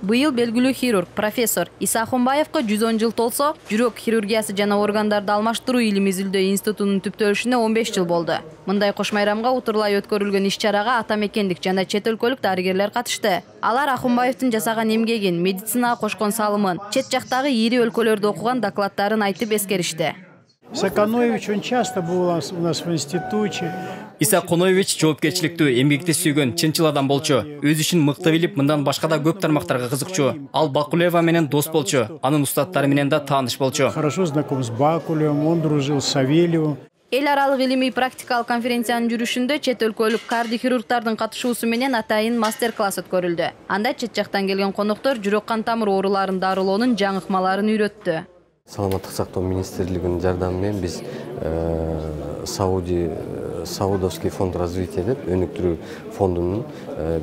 Быйыл белгилүү хирург, профессор Иса Ахунбаевга 110 жыл толсо, жүрөк хирургиясы жана органдарды алмаштыруу илим изилдөө институтунун түптөлүшүнө 15 жыл болду. Мындай кош майрамга утурлай өткөрүлгөн иш-чарага ата мекендик жана чет өлкөлүк дарыгерлер катышты. Алар Ахунбаевдин жасаган эмгегин, медицинага кошкон салымын, чет жактагы ири өлкөлөрдө окуган докладдарын айтып эскеришти. Иса Коноевич он часто был у нас в институте. Иса Коноевич жоопкерчиликтүү, эмгекти сүйгөн, чынчыл адам болчу. Өз ишин мыкты билип, мындан башка да көп тармактарга кызыкчу. Ал Бакулева менен дос болчу. Анын устаттары менен да тааныш болчу. Хорошо знаком с Бакулевым, он дружил с Савельевым. Эл аралык илимий практикалык конференциянын жүрүшүндө чет өлкөлүк кардиохирургдардын катышуусу менен атайын мастер-класс өткөрүлдү. Анда чет жактан келген коноктор жүрөк кан тамыр ооруларын дарылоонун жаңы ыкмаларын үйрөттү. Саламаттык сактоо министрлигинин жардамы менен биз Саудовский фонд развития деп өнүктүрүү фондунун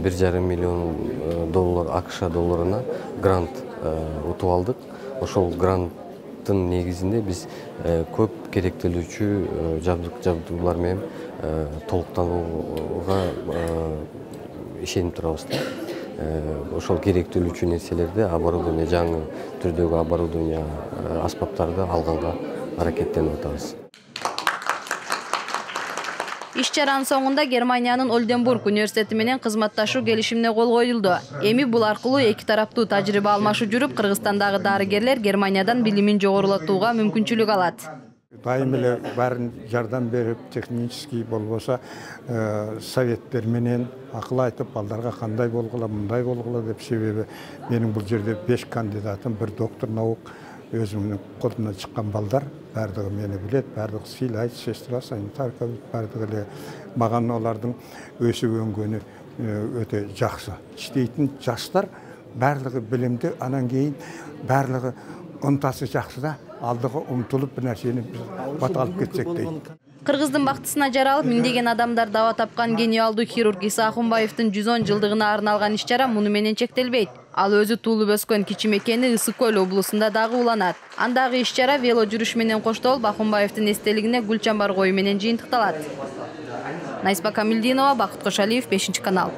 1,5 миллион доллар АКШ долларына грант утуп алдык. Ошол гранттын негизинде биз көп керектелүүчү жабдуулар менен толуктанууга ишенип турабыз. Ошол керектелүүчү нерселерди, оборудование, жаңы түрдөгү оборудование, аспаптарды алганга аракеттенип атабыз. Иш-чаранын соңунда Германиянын Ольденбург университети менен кызматташуу келишимине кол коюлду. Эми бул аркылуу эки тараптуу тажрыйба алмашуу жүрүп, Кыргызстандагы дарыгерлер Германиядан билимин жогорулатууга мүмкүнчүлүк алат. Дайым эле баарын жардам берип, технический болбосо советтер менен акыл айтып, балдарга кандай болгула, мындай болгула деп, себеби менин бул жерде 5 кандидатым, bir доктор наук өзүмдүн колумдан чыккан балдар, баардыгы мени билет, баардыгы сыйлайт, сестра, санитарка, баардыгы эле маган алардын өсүп өнгөнү өтө жакшы. Иштейтин жаштар баардыгы билимди, анан кийин баардыгы ынтасы жакшы да, алдыга умтулуп бир нерсени бат алып кетсек дейт. Кыргыздын бактысына жаралып, миңдеген адамдар даба тапкан гениалдуу хирург Иса Ахунбаевдин 110 жылдыгына арналган иш-чара муну менен чектелбейт. Ал өзү туулуп өскөн кичи мекени Ысык көл облусунда дагы уланат. Андагы иш-чара вело жүрүш менен коштолуп, Ахунбаевдин эстелигине гүл чамбар коюу менен жыйынтыкталат. Найсба Камилдинова, Бакыт Кошалиев, 5 канал.